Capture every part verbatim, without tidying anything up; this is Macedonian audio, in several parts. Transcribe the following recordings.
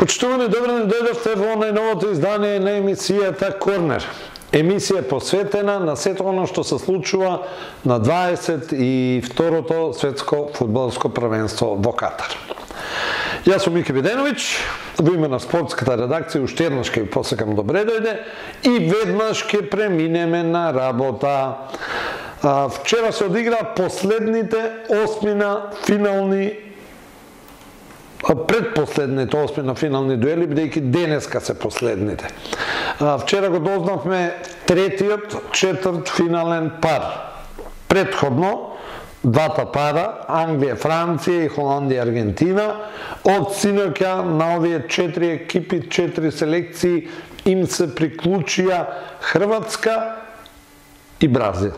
Почитувани, добро ни дојдовте во најновото издание на емисијата Корнер. Емисија посветена на сето оно што се случува на дваесет и второто светско фудбалско првенство во Катар. Јас сум Мики Виденовиќ, во име на спортската редакција уште еднаш ќе ви посакам добре дојде и веднаш ќе преминеме на работа. Вчера се одигра последните осмина финални предпоследните осмина финални дуели, бидејќи денеска се последните. Вчера го дознавме третиот четврт финален пар. Предходно, двата пара, Англија, Франција и Холандија, Аргентина, од синоќа на овие четири екипи, четири селекции, им се приклучија Хрватска и Бразил.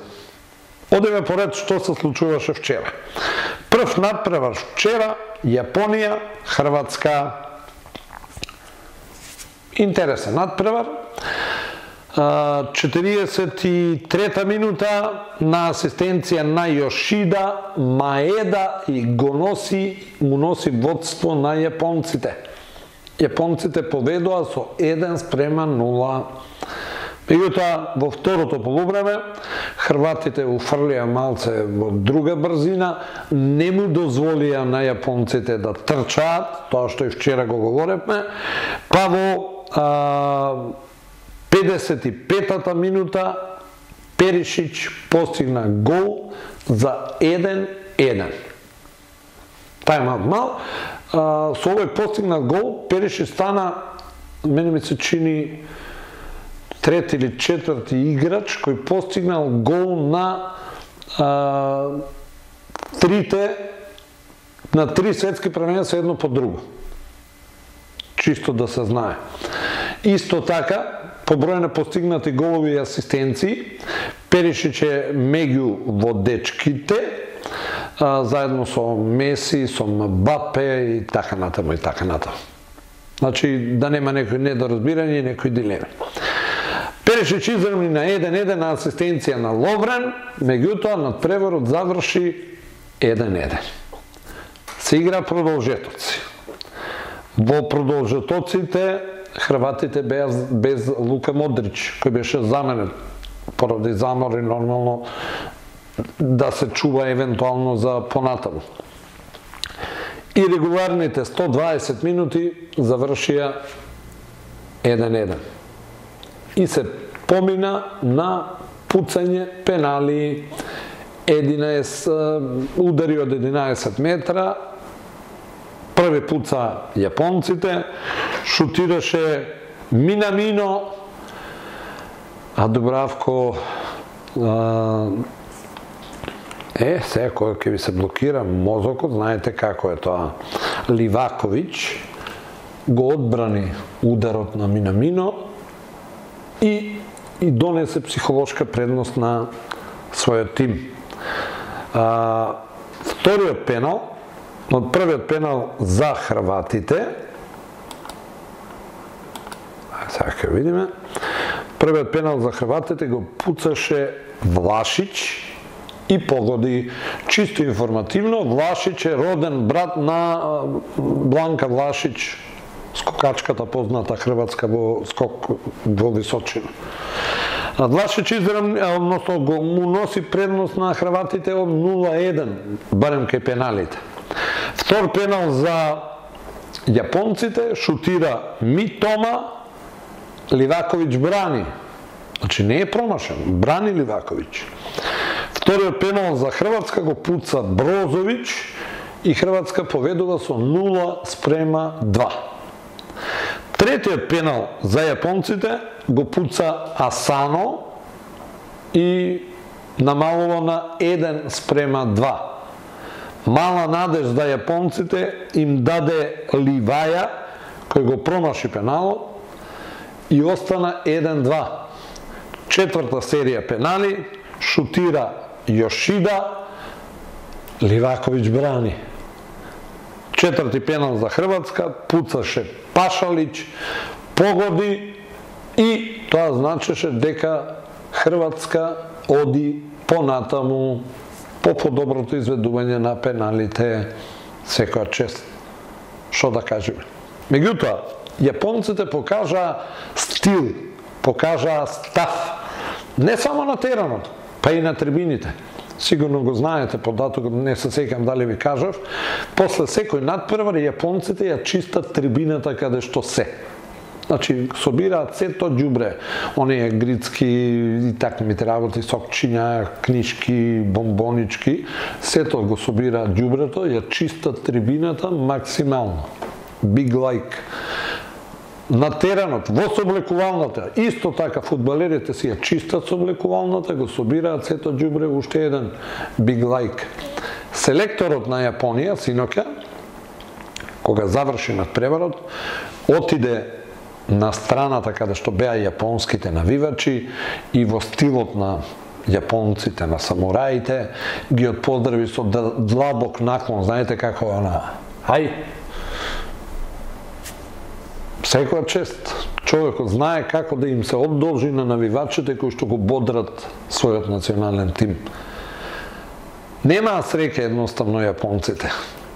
Одеме поред што се случуваше вчера. Прв надпревар вчера, Јапонија, Хрватска. Интересен надпревар. четириесет и трета минута на асистенција на Јошида, Маеда и го носи, му носи водство на јапонците. Јапонците победува со еден спрема нула. Меѓутоа, во второто полувреме, хрватите уфрлија малце во друга брзина, не му дозволија на јапонците да трчаат, тоа што и вчера го говоревме, па во а, педесет и петата минута Перишич постигна гол за еден еден. Тајм мал, а, со овој постигнат гол, Перишич стана, мене ми се чини, трети или четврти играч кој постигнал гол на а, трите на три светски првенства едно по друго. Чисто да се знае. Исто така, по број на постигнати голови и асистенции, Перишич е меѓу водечките, а, заедно со Меси, со Мбапе и така натаму и така натаму. Значи, да нема некој недоразбирање и некој дилеми. Перишич изравни на еден еден на асистенција на Ловрен, меѓутоа надпреварот заврши еден еден. Се игра продолжетоци. Во продолжетоците хрватите беа без Лука Модрич, кој беше заменет поради замори нормално да се чува евентуално за понатаму. И регуларните сто дваесет минути завршија еден еден. И се помина на пуцање пенали, единаесет удари од единаесет метра, први пуца јапонците, шутираше Минамино, а Дубравко а, е, сега кој ќе ви се блокира мозокот, знаете како е тоа, Ливаковиќ го одбрани ударот на Минамино и, и донесе психолошка предност на својот тим. А, вториот пенал, од првиот пенал за хрватите, сега ќе видиме, првиот пенал за хрватите го пуцаше Влашич и погоди. Чисто информативно, Влашич е роден брат на Бланка Влашич, скокачката позната хрватска во скок во височина. Влашич изравни, односно го му носи предност на хрватите од нула еден, барем кај пеналите. Втор пенал за јапонците, шутира Митома, Ливаковиќ брани. Значи не е промашен, брани Ливаковиќ. Вториот пенал за Хрватска го пуца Брозовиќ и Хрватска победува со нула спрема два. Третиот пенал за јапонците го пуца Асано и намалува на еден спрема два. Мала надежда јапонците им даде Ливаја, кој го промаши пеналот и остана еден два. Четврта серија пенали, шутира Јошида, Ливаковиќ брани. Четврти пенал за Хрватска, пуцаше Пашалиć, погоди и тоа значеше дека Хрватска оди понатаму по подоброто изведување на пеналите, секоја чест. Што да кажеме? Меѓутоа, јапонците покажаа стил, покажаа став, не само на теранот, па и на трибините. Сигурно го знаете податокот, не се сеќам дали ви кажав, после секој надпревар јапонците ја чистат трибината каде што се. Значи, собираат сето ѓубре, оние грицки и такмите работи, сокчиња, книшки, бомбонички, сето го собираат ѓубрето, ја чистат трибината максимално. Big like. На теренот, во соблекувалната, исто така фудбалерите си ја чистат соблекувалната, го собираат сето ѓубре, уште еден big like. Селекторот на Јапонија, синоќа, кога заврши надпреварот, отиде на страната каде што беа јапонските навивачи и во стилот на јапонците, на самураите, ги отпоздрави со длабок наклон, знаете како е она, ај, секоја чест. Човекот знае како да им се одолжи на навивачите кои што го бодрат својот национален тим. Немаа среќа едноставно јапонците.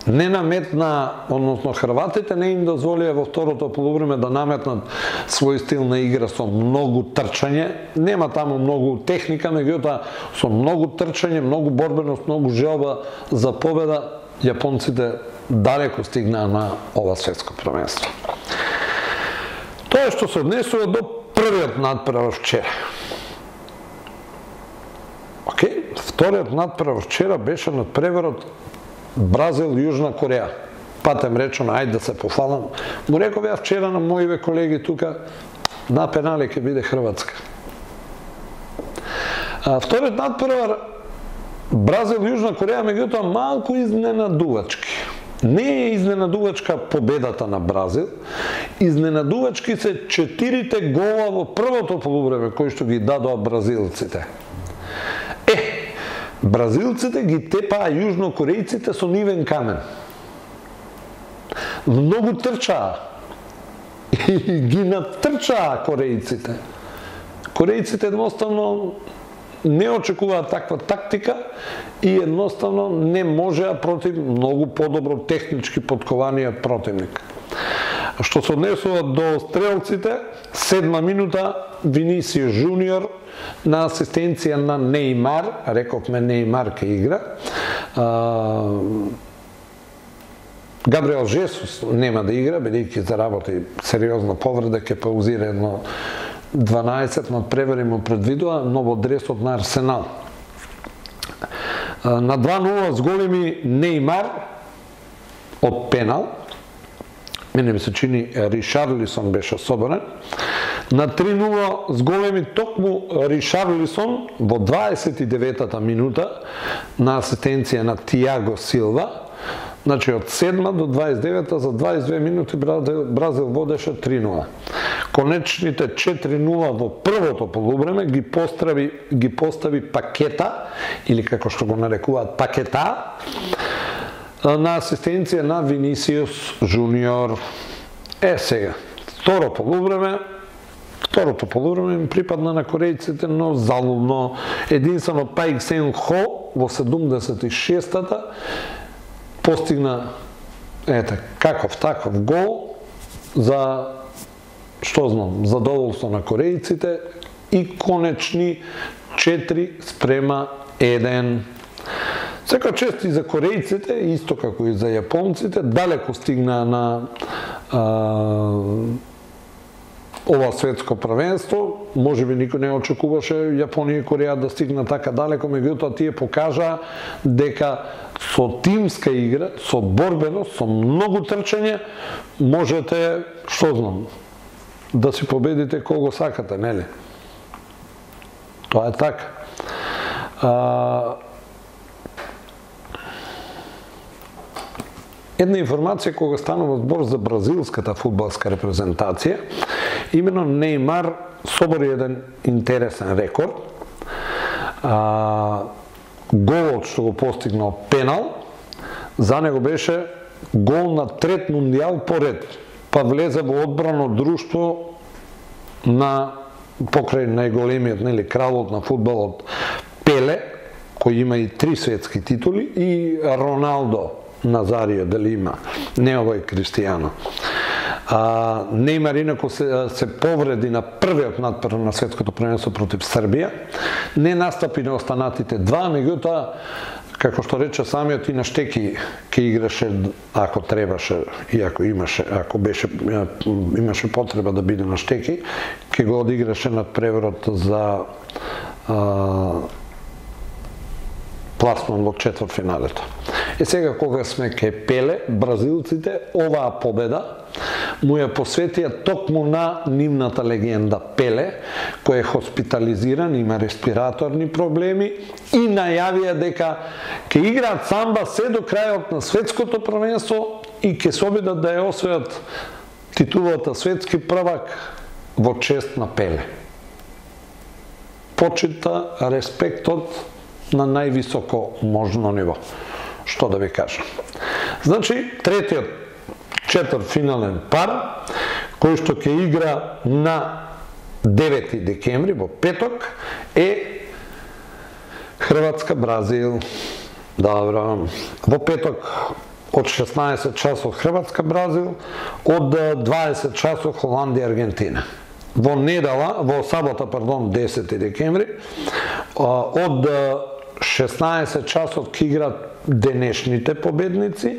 Не наметна, односно хрватите не им дозволија во второто полувреме да наметнат свој стил на игра со многу трчање. Нема таму многу техника, меѓутоа со многу трчање, многу борбеност, многу желба за победа, јапонците далеко стигнаа на ова светско првенство. Тоа што се однесува до првиот надпревар вчера. Океј, вториот надпревар вчера беше надпреварот Бразил-Јужна Кореја. Патем речено, ајде да се пофалам. Му реков ја вчера на моиве колеги тука, на пенали ќе биде Хрватска. А, вториот надпревар Бразил-Јужна Кореја, меѓутоа малку изненадувачки. Не е изненадувачка победата на Бразил, изненадувачки се четирите гола во првото полувреме кои што ги дадоа бразилците. Е, бразилците ги тепаа јужнокорејците со нивен камен. Многу трчаа и ги натрчаа корејците. Корејците едноставно не очекуваат таква тактика и едноставно не можеа против многу подобро технички подкованиот противник. Што се однесува до стрелците, седма минута Винисиус Жуниор на асистенција на Неймар, рековме Неймар ке игра. Габриел Жесус нема да игра, бидејќи заработи сериозна повреда, ке паузира едно дванаесет надпревари му предвидува, но во дресот на Арсенал. На два нула с големи Неймар од пенал, мене ми се чини Ришарлисон беше соборен. На три нула с големи токму Ришарлисон во дваесет и деветата минута на асистенција на Тиаго Силва. Значи од седма до дваесет и девета за дваесет и две минути Бразил водеше три нула. Конечните четири нула во првото полувреме ги постави ги постави Пакета или како што го нарекуваат Пакета на асистенција на Винисиус Жуниор. Е сега, второ полувреме, второто полувреме им припадна на корејците, но залудно. Единствено Паик Сен Хо во седумдесет и шестата постигна ете каков таков гол за што знам, задоволство на корејците и конечни четири спрема еден. Секоја чест и за корејците, исто како и за јапонците, далеко стигнаа на а, ова светско првенство. Можеби никој не очекуваше Јапонија и Кореја да стигнат така далеко, меѓутоа тие покажаа дека со тимска игра, со борбеност, со многу трчање, можете, што знам, да си победите кого сакате, нели? Тоа е така. А, една информација кога станува збор за бразилската фудбалска репрезентација, имено Неймар собори еден интересен рекорд. А, голот што го постигнал пенал, за него беше гол на трет мундијал поред, па влезе во одбрано друштво на покрај најголемиот, нели, кралот на фудбалот Пеле, кој има и три светски титули, и Роналдо Назарио, дали има, не овој Кристијано. А, Неймар инако се, се повреди на првиот надпрв на светското првенство против Србија. Не настапи на останатите два, меѓутоа, како што рече самиот, и на штеки ќе играше ако требаше и ако имаше, ако беше имаше потреба да биде на штеки, ќе го одиграше над преворот за а, пласман во четвртфиналето. Е сега кога сме ке Пеле, бразилците оваа победа му ја посветија токму на нивната легенда Пеле, кој е хоспитализиран, има респираторни проблеми и најавија дека ќе играат самба се до крајот на светското првенство и ќе се обидат да ја освојат титулата светски првак во чест на Пеле. Почита респектот на највисоко можно ниво. Што да ви кажам. Значи, третиот четвртфинален пар, кој што ќе игра на девети декември, во петок, е Хрватска-Бразил. Добро. Во петок од шеснаесет часот Хрватска-Бразил, од дваесет часот Холандија-Аргентина. Во недела, во сабота, пардон, десети декември, од шеснаесет часот ќе играат денешните победници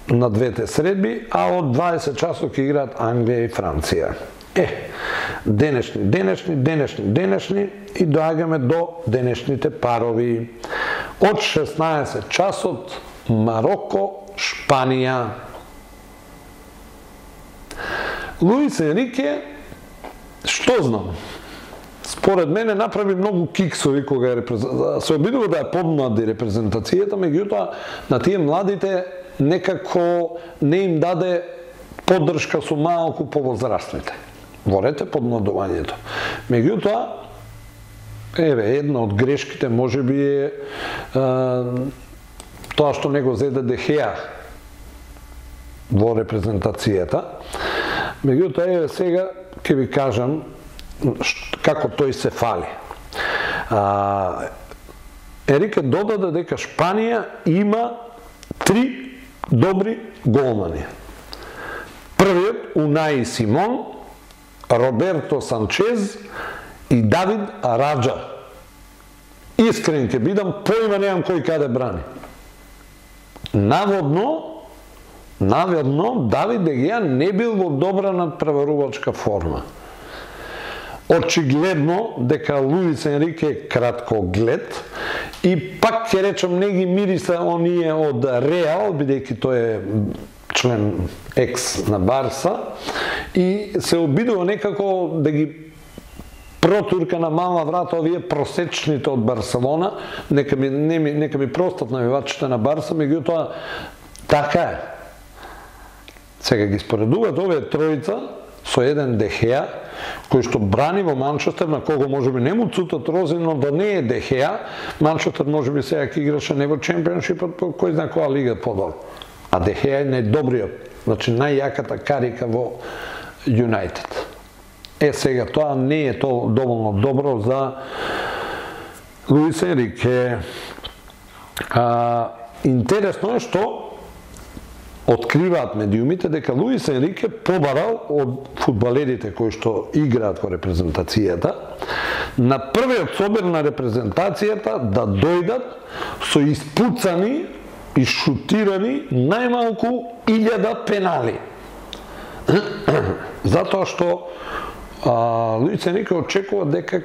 на двете средби, а од дваесет часот ќе играат Англија и Франција. Е, денешни, денешни, денешни, денешни и доаѓаме до денешните парови. Од шеснаесет часот Мароко, Шпанија. Луис Енрике, што знам? Според мене направи многу киксови кога е репрезент... се обидува да ја подмлади репрезентацијата, меѓутоа на тие младите некако не им даде поддршка со малку повозрастните. Ворете подмладувањето. Меѓутоа, еве, една од грешките можеби е, е тоа што не го зеде Де Хеа во репрезентацијата. Меѓутоа, еве сега ќе ви кажам како тој се фали. А, Енрике додаде дека Шпанија има три добри голмани. Првиот Унаи Симон, Роберто Санчез и Давид Раджа. Искрен ќе бидам, поима немам кој каде брани. Наводно, наводно Давид Дегеа не бил во добра надпреварувачка форма. Очигледно дека Луис Енрике е краткоглед и пак ќе речам не ги мириса оние од Реал, бидејќи тој е член екс на Барса и се обидува некако да ги протурка на мала врата овие просечните од Барселона, нека ми, не ми, нека ми простат навивачите на Барса, меѓутоа така е. Сега ги споредуваат овие тројца со еден Де Хеа, кој што брани во Манчестер, на кого можеби не му цутат рози, но да не е Де Хеа, Манчестер можеби сега ќе играше не во чемпионшипот, по кој знае која лига подол. А Де Хеа е најдобриот, значи најјаката карика во Юнайтед. Е, сега, тоа не е тоа доволно добро за Луис Енрике. А, интересно е што откриваат медиумите дека Луис Енрике побарал од фудбалерите кои што играат во репрезентацијата на првиот собир на репрезентацијата да дојдат со испуцани и шутирани најмалку илјада пенали. Затоа што а, Луис Енрике очекува дека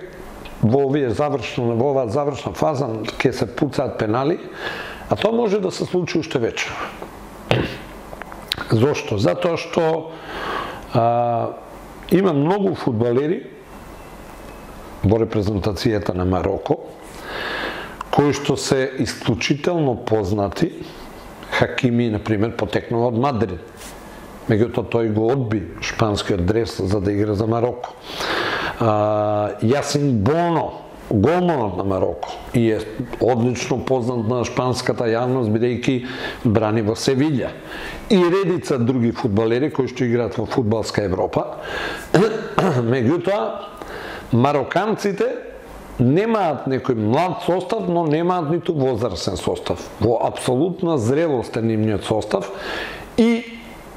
во овие завршна, во оваа завршна фаза ќе се пуцаат пенали, а тоа може да се случи уште вечер. Зошто? Затоа што а, има многу фудбалери во репрезентацијата на Мароко, кои што се исклучително познати. Хакими, например, потекнува од Мадрид. Меѓутоа тој го одби шпанскиот дрес за да игра за Мароко. А, Јасин Боно, голманот на Мароко, и е одлично познат на шпанската јавност, бидејќи брани во Севиља. И редица други фудбалери кои што играат во фудбалска Европа. Меѓутоа, мароканците немаат некој млад состав, но немаат ниту возрастен состав. Во апсолутна зрелост е нивниот состав и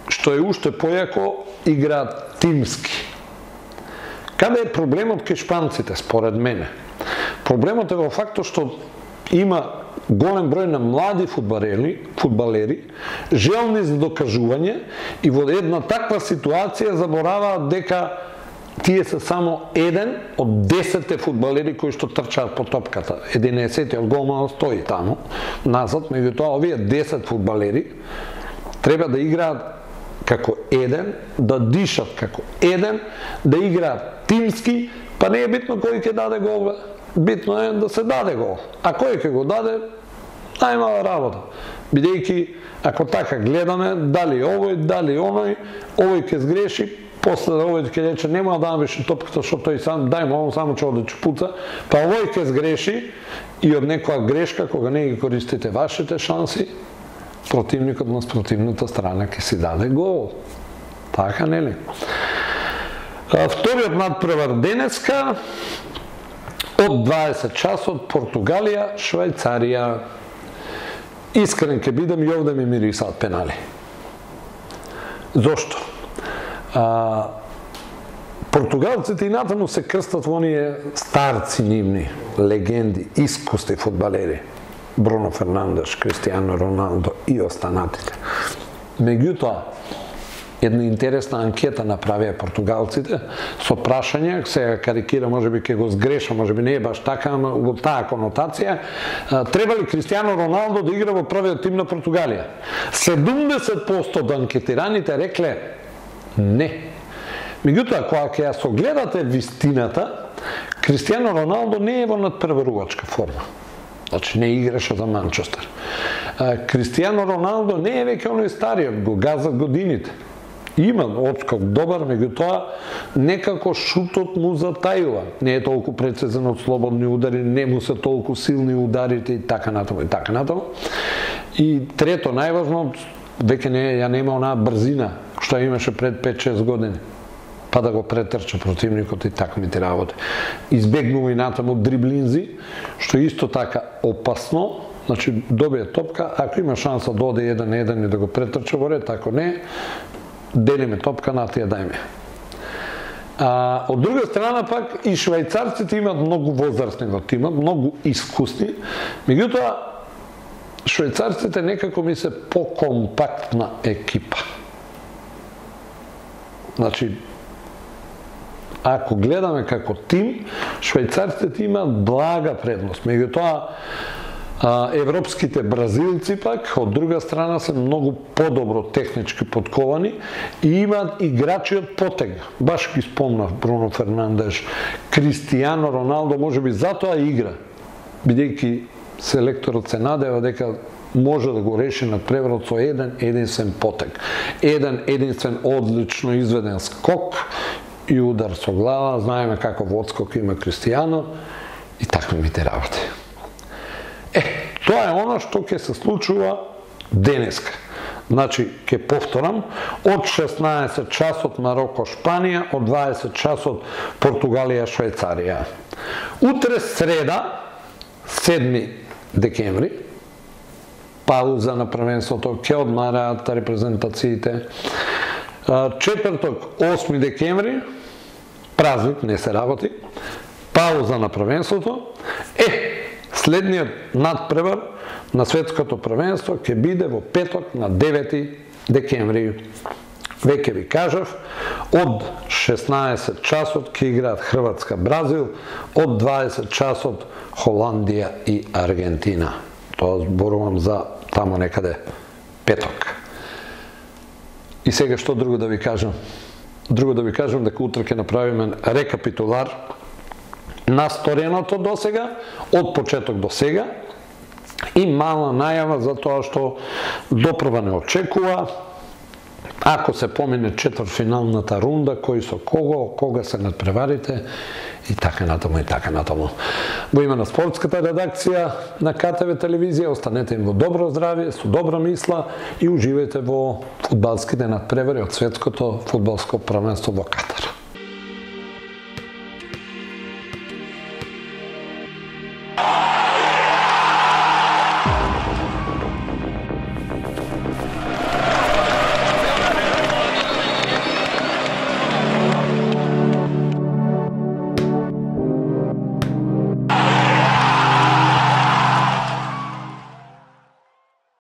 што е уште појако, играат тимски. Каде е проблемот кај шпанците, според мене? Проблемот е во фактот што има голем број на млади фудбалери, фудбалери, желни за докажување и во една таква ситуација забораваат дека тие се само еден од десетте фудбалери кои што трчаат по топката. единаесеттиот голман стои таму, назад, меѓутоа овие десет фудбалери треба да играат како еден, да дишат како еден, да играат тимски, па не е битно кој ќе даде гол, битно е да се даде гол. А кој ќе го даде, најмала работа. Бидејќи, ако така гледаме, дали овој, дали оној, овој ќе сгреши, после овој ќе рече нема да беше топката што тој сам, дај му, он само ќе оде чупуца, па овој ќе сгреши и од некоја грешка, кога не ги користите вашите шанси, противникот на спротивната страна ќе си даде гол. Така, нели? Вториот надпревар денеска, од дваесет часот, Португалија, Швајцарија. Искрен ке бидам и овде ми мирисаат пенали. Зошто? А, португалците и натаму се крстат во оние старци нивни, легенди, искусни фудбалери. Бруно Фернандеш, Кристијано Роналдо и останатите. Меѓутоа, една интересна анкета направија португалците со прашање, сега карикира, можеби ќе го сгреша, можеби не е баш така, ама во таа конотација, треба ли Кристијано Роналдо да игра во првиот тим на Португалија? седумдесет проценти од анкетираните рекле не. Меѓутоа, кога ќе ја согледате вистината, Кристијано Роналдо не е во надпреварувачка форма. Значи не играше за Манчестер. Кристијано Роналдо не е веќе оној стариот, го газат годините. Има отскок добар, меѓутоа некако шутот му затајува. Не е толку прецизен од слободни удари, не му се толку силни ударите и така натаму и така натаму. И трето, најважно, веќе не ја нема онаа брзина што имаше пред пет-шест години, па да го претрча противникот и такмите работи. Избегнува и натаму дриблинзи, што исто така опасно. Значи, добие топка, ако има шанса да оде еден на еден и да го претрча во ред, ако не, делиме топка, на тие дајме. А, од друга страна пак и швајцарците имаат многу возрастни во тимот, многу искусни, меѓутоа швајцарците некако ми се покомпактна екипа. Значи, ако гледаме како тим, швајцарците имаат блага предност. Меѓутоа, европските бразилци пак, од друга страна, се многу подобро технички подковани и имаат играчи од потег. Баш ги спомнав Бруно Фернандеш, Кристијано Роналдо, можеби затоа игра, бидејќи селекторот се надева дека може да го реши надпреварот со еден единствен потег. Еден единствен одлично изведен скок и удар со глава, знаеме каков одскок има Кристијано и такви мите работи. Е, тоа е она што ќе се случува денеска. Значи, ќе повторам, од шеснаесет часот Мароко Шпанија, од дваесет часот Португалија Швајцарија. Утре среда, седми декември, пауза на првенството, ќе одмараат репрезентациите. Четврток, осми декември, празник, не се работи, пауза на првенството. Е, следниот надпревар на светското првенство ќе биде во петок на девети декември. Веќе ви кажав, од шеснаесет часот ќе играат Хрватска Бразил, од дваесет часот Холандија и Аргентина. Тоа зборувам за тамо некаде петок. И сега што друго да ви кажам? Друго да ви кажам дека утре ќе направиме рекапитулар на стореното до сега, од почеток до сега, и мала најава за тоа што допрва не очекува, ако се помине четвртфиналната рунда, кој со кого, кога се надпреварите, и така натаму, и така натаму. Во име на спортската редакција на Ка Те Ве телевизија, останете им во добро здравје, со добра мисла и уживајте во фудбалските надпревари од светското фудбалско првенство во Катар.